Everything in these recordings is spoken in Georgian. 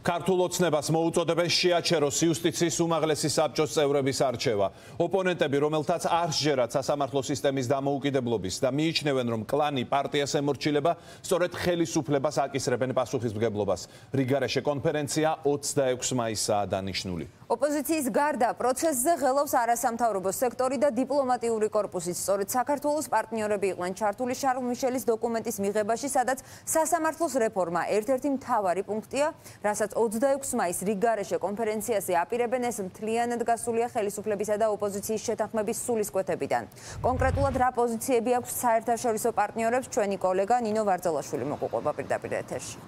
ქართულ ოცნებას მოუწოდებენ შეაჩეროს იუსტიციის უმაღლესი საბჭოს წევრების არჩევა. ოპონენტები, რომელთაც არ სჯერათ სასამართლო სისტემის დამოუკიდებლობის და მიიჩნევენ, რომ კლანი პარტიას ემორჩილება, სწორედ ხელისუფლებას აკისრებენ პასუხისმგებლობას. რიგარეშე კონფერენცია 26 მაისაა დანიშნული. ოპოზიციის გარდა პროცესზე ღელავს არასამთავრობო სექტორი და დიპლომატიური კორპუსიც. სწორედ საქართველოს პარტნიორები იყვნენ ჩართული შარლ მიშელის დოკუმენტის მიღებაში, სადაც სასამართლოს რეფორმა ერთ-ერთი მთავარი პუნქტია, რასაც 26 მაისს რიგარეშე კონფერენციაზე აპირებენ, ეს მთლიანად გასულია ხელისუფლებისა და ოპოზიციის შეთანხმების სულისკვეთებიდან. კონკრეტულად რა პოზიციები აქვს საერთაშორისო პარტნიორებს, ჩვენი კოლეგა ნინო ვარძელაშვილი მოგვიყვება პირდაპირ ეთერში.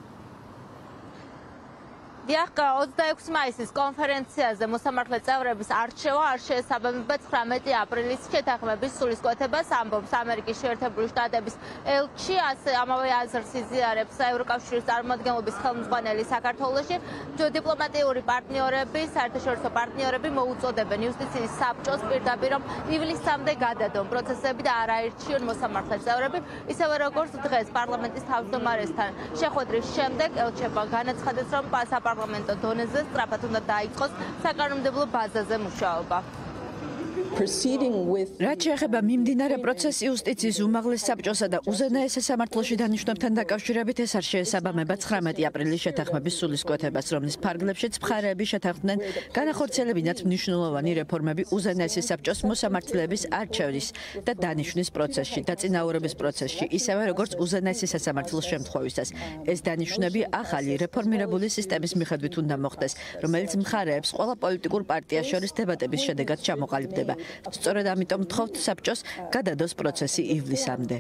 დიახ, 26 მაისის კონფერენციაზე მოსამართლე წევრების არჩევა არ შეესაბამება 19 აპრილის შეთანხმების სულისკვეთებას, ამბობს ამერიკის შეერთებული შტატების ელჩი, ასე ამავე აზრს იზიარებს ევროკავშირის წარმომადგენლობის ხელმძღვანელი საქართველოში. დიპლომატიური პარტნიორები, საერთაშორისო პარტნიორები მოუწოდებენ იუსტიციის საბჭოს პირდაპირ, რომ ივლისამდე გადადონ პროცესები და არ აირჩიონ მოსამართლე წევრები, ისევე როგორც დღეს პარლამენტის თავმჯდომარესთან შეხვედრის შემდეგ ელჩებმა განაცხადეს, რომ საპარლამენტო დონეზე სწრაფად უნდა დაიწყოს საკანონმდებლო ბაზაზე მუშაობა. რაც შეეხება მიმდინარე პროცესს იუსტიციის უმაღლეს საბჭოსა და უზენაეს სასამართლოში დანიშნებთან დაკავშირებით, ეს არ შეესაბამება 19 აპრილის შეთანხმების სულისკვეთებას, რომლის ფარგლებშიც მხარეები შეთანხმდნენ განახორციელებინათ მნიშვნელოვანი რეფორმები უზენაეს საბჭოს მოსამართლეების არჩევნის და დანიშვნის პროცესში, დაწინაურების პროცესში, ისევე როგორც უზენაეს სასამართლოს შემთხვევისას. ეს დანიშვნები ახალი რეფორმირებული სისტემის მიხედვით უნდა მოხდეს, რომელიც მხარეებს ყველა პოლიტიკურ პარტიას შორის დებატების შედეგად ჩამოყალიბდება. სწორედ ამიტომ ვთხოვთ საბჭოს გადადოს პროცესი ივლისამდე.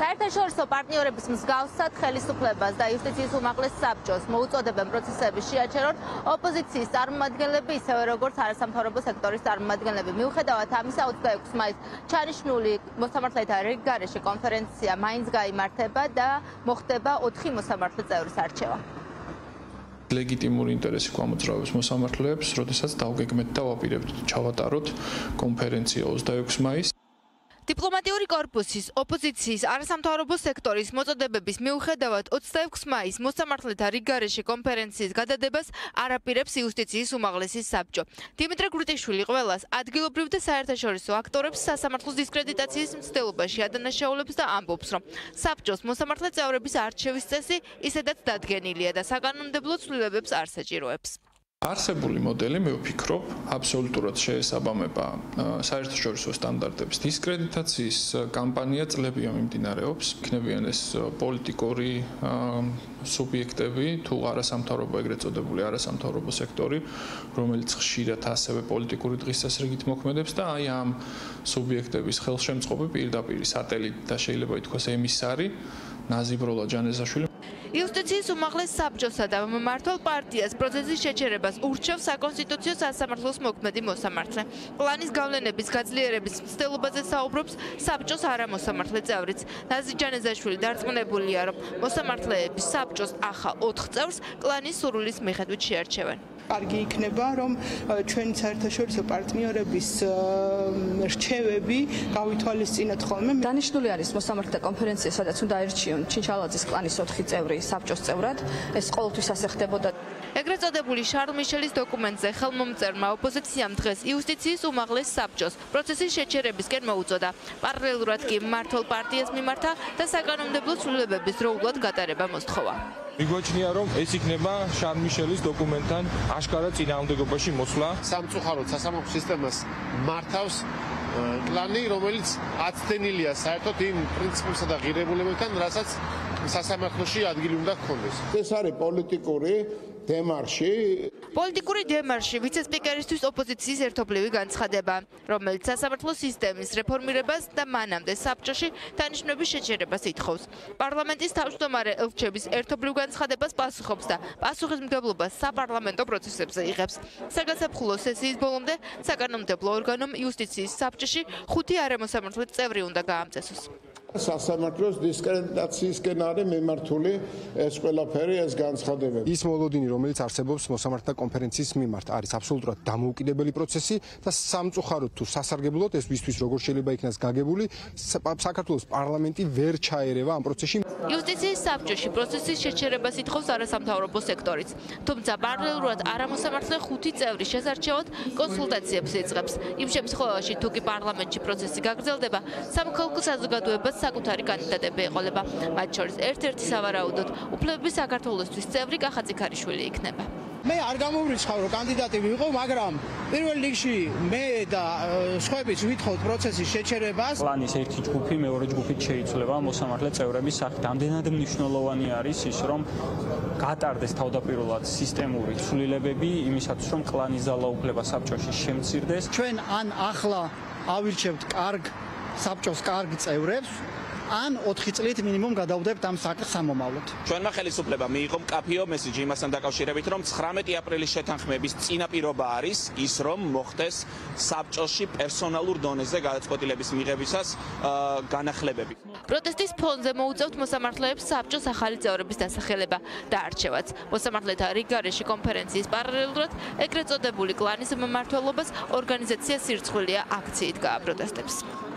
საერთაშორისო პარტნიორების მსგავსად ხელისუფლებას და იუსტიციის უმაღლეს საბჭოს მოუწოდებენ პროცესების შეაჩერონ ოპოზიციის წარმომადგენლები, ისევე როგორც არასამთავრობო სექტორის წარმომადგენლები. მიუხედავად ამისა, 26 მაისს ჩანიშნული მოსამართლეთა რიგგარეშე კონფერენცია მაინც გაიმართება და მოხდება 4 მოსამართლე წევრის არჩევა. ლეგიტიმური ინტერესი გვამოძრავებს მოსამართლეებს, როდესაც დავგეგმეთ და ვაპირებთ ჩავატაროთ კონფერენცია 26 მაისს. დიპლომატიური კორპუსის, ოპოზიციის, არასამთავრობო სექტორის მოწოდებების მიუხედავად 26 მაისს მოსამართლეთა რიგგარეშე კონფერენციის გადადებას არ აპირებს იუსტიციის უმაღლესი საბჭო. დიმიტრე გრუტიშვილი ყველას ადგილობრივ და საერთაშორისო აქტორებს სასამართლოს დისკრედიტაციის მცდელობაში ადანაშაულებს და ამბობს, რომ საბჭოს მოსამართლე წევრების არჩევის წესი ისედაც დადგენილია და საკანონმდებლო ცვლილებებს არ საჭიროებს. არსებული მოდელი, მე ვფიქრობ, აბსოლუტურად შეესაბამება საერთაშორისო სტანდარტებს. დისკრედიტაციის კამპანია წლებია მიმდინარეობს. იქნებიან ეს პოლიტიკური სუბიექტები, თუ არასამთავრობო, ეგრეთ წოდებული არასამთავრობო სექტორი, რომელიც ხშირად ასევე პოლიტიკური დღესასრიგით მოქმედებს და აი ამ სუბიექტების ხელშემწყობი პირდაპირ სატელიტ და შეიძლება ითქვას ემისარი ნაზიბროლა ჯანეზაშვილი იუსტიციის უმაღლეს საბჭოსა და მმართველ პარტიას პროცესის შეჩერებას ურჩევს საკონსტიტუციო სასამართლოს მოქმედი მოსამართლე. პლანის გავლენების გაძლიერების მცდელობაზე საუბრობს საბჭოს არამოსამართლე წევრიც. ნაზი ჯანეზაშვილი დარწმუნებულია, რომ მოსამართლეების საბჭოს ახალ 4 წევრს კლანის სურვილის მიხედვით შეარჩევენ. კარგი იქნება, რომ ჩვენი საერთაშორისო პარტნიორების რჩევები გავითვალისწინოთ ხოლმე. დანიშნული არის მოსამართლეთა კონფერენცია, სადაც უნდა აირჩიონ ჩინჩალაძის კლანის 4 წევრი საბჭოს წევრად. ეს ყოველთვის ასე ხდებოდა. ეგრეთ წოდებული შარლ მიშელის დოკუმენტზე ხელმომწერმა ოპოზიციამ დღეს იუსტიციის უმაღლეს საბჭოს პროცესის შეჩერებისკენ მოუწოდა. პარალელურად კი მმართველ პარტიას მიმართა და საკანონმდებლო ცვლილებების დროულად გატარება მოსთხოვა. მიგვაჩნია, რომ ეს იქნება შარლ მიშელის დოკუმენტთან აშკარად წინააღმდეგობაში მოსვლა. სამწუხაროდ სასამართლო სისტემას მართავს კლანი, რომელიც აცდენილია საერთოდ იმ პრინციპებსა და ღირებულებებთან, რასაც სასამართლოში ადგილი უნდა ჰქონდეს. ეს არის პოლიტიკური დემარში. პოლიტიკური დემარში ვიცე-სპიკერისთვის ოპოზიციის ერთობლივი განცხადება, რომელიც სასამართლო სისტემის რეფორმირებას და მანამდე საბჭოში დანიშნების შეჩერებას ითხოვს. პარლამენტის თავმჯდომარე ელჩების ერთობლივ განცხადებას პასუხობს და პასუხისმგებლობას საპარლამენტო პროცესებზე იღებს. საგასაფხულო სესიის ბოლომდე საკანონმდებლო ორგანომ იუსტიციის საბჭოში 5 არამოსამართლე წევრი უნდა გაამწესოს. სასამართლოს დისკრედიტაციისკენ არის მიმართული ეს ყველაფერი, ეს განცხადებები. ის მოლოდინი, რომელიც არსებობს მოსამართლეთა კონფერენციის მიმართ, არის აბსოლუტურად დამოუკიდებელი პროცესი და სამწუხაროდ თუ სასარგებლოდ ეს ვისთვის როგორ შეიძლება იქნას გაგებული, საქართველოს პარლამენტი ვერ ჩაერევა ამ პროცესში. იუსტიციის საბჭოში პროცესის შეჩერებას ითხოვს არასამთავრობო სექტორიც. თუმცა პარალელურად არამოსამართლე 5 წევრის შესარჩევად კონსულტაციებს იწყებს. იმ შემთხვევაში, თუ კი პარლამენტში პროცესი გაგრძელდება, სამოქალაქო საზოგადოებას საკუთარი კანდიდატები ეყოლება. მათ შორის ერთ-ერთი სავარაუდოდ უფლებების საქართველოსთვის წევრი კახა წიქარიშვილი იქნება. მე არ გამოვრიცხავ რომ კანდიდატი ვიყო, მაგრამ პირველ რიგში მე და სხვაებიც ვითხოვთ პროცესის შეჩერებას. პლანის ერთი ჯგუფი მეორე ჯგუფით შეიცვლება მოსამართლე წევრების სახით. ამდენად მნიშვნელოვანი არის ის, რომ გატარდეს თავდაპირველად სისტემური ცვლილებები იმისათვის, რომ კლანის ძალაუფლება საბჭოში შემცირდეს. ჩვენ ან ახლა ავირჩევთ კარგ საბჭოს კარგ წევრებს, ან 4 წლით მინიმუმ გადავდებთ ამ საკითხს სამომავლოდ. ჩვენმა ხელისუფლებამ მიიღო მკაფიო მესიჯი იმასთან დაკავშირებით, რომ 19 აპრილის შეთანხმების წინაპირობა არის ის, რომ მოხდეს საბჭოში პერსონალურ დონეზე გადაწყვეტილების მიღებისას განახლებები. პროტესტის ფონზე მოუწევთ მოსამართლეებს საბჭოს ახალი წევრების დასახელება და არჩევაც. მოსამართლეთა რიგგარეშე კონფერენციის პარალელურად ეგრეთ წოდებული კლანის მმართველობას ორგანიზაცია სირცხვილია აქციით გააპროტესტებს.